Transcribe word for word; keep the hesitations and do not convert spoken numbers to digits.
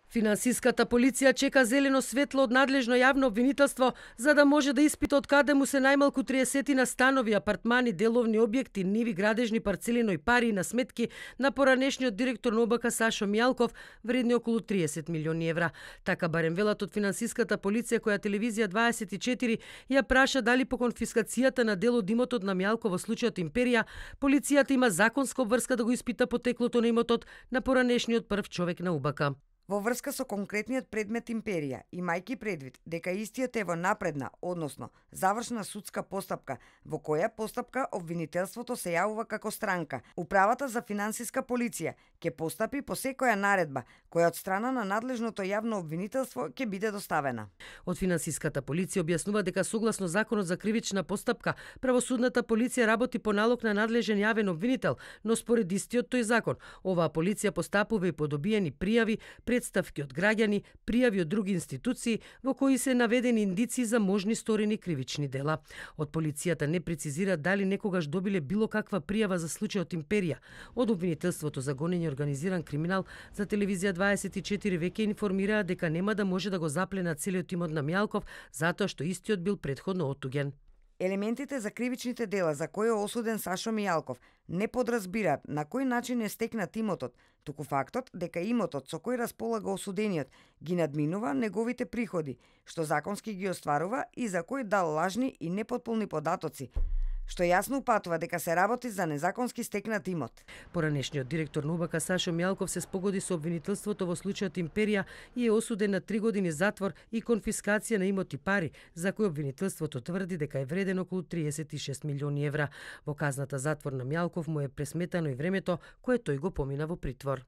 Финансиската полиција чека зелено светло од надлежно јавно обвинителство за да може да испита од каде му се најмалку триесет станови, апартмани, деловни објекти, ниви, градежни парцели, но и пари на сметки на поранешниот директор на ОБК Сашо Мијалков, вредни околу триесет милиони евра. Така барем велат од финансиската полиција, која телевизија дваесет и четири ја праша дали по конфискацијата на дел од имотот на Мијалков во случајот Империја, полицијата има законска обврска да го испита потеклото на имотот на поранешниот прв човек на УБК. Во врска со конкретниот предмет Империја, имајќи предвид дека истиот е во напредна, односно завршна судска постапка, во која постапка обвинителството се јавува како странка, Управата за финансиска полиција ќе постапи по секоја наредба која од страна на надлежното јавно обвинителство ќе биде доставена. Од финансиската полиција објаснува дека согласно Законот за кривична постапка, правосудната полиција работи по налог на надлежен јавен обвинител, но според истиот тој закон, оваа полиција постапува и по добиени пријави, представки од граѓани, пријави од други институции во кои се наведени индици за можни сторени кривични дела. Од полицијата не прецизира дали некогаш добиле било каква пријава за случајот Империја. Од обвинителството за гонење организиран криминал за телевизија дваесет и четири веќе информираа дека нема да може да го запленат целиот имот на Мијалков затоа што истиот бил претходно оттуѓен. Елементите за кривичните дела за кои е осуден Сашо Мијалков не подразбираат на кој начин е стекнат имотот, туку фактот дека имотот со кој располага осудениот ги надминува неговите приходи, што законски ги остварува и за кој дал лажни и непотполни податоци, што јасно упатува дека се работи за незаконски стекнат имот. Поранешниот директор на УБК Сашо Мијалков се спогоди со обвинителството во случајот Империја и е осуден на три години затвор и конфискација на имоти пари, за кои обвинителството тврди дека е вреден околу триесет и шест милиони евра. Во казната затвор на Мијалков му е пресметано и времето кое тој го помина во притвор.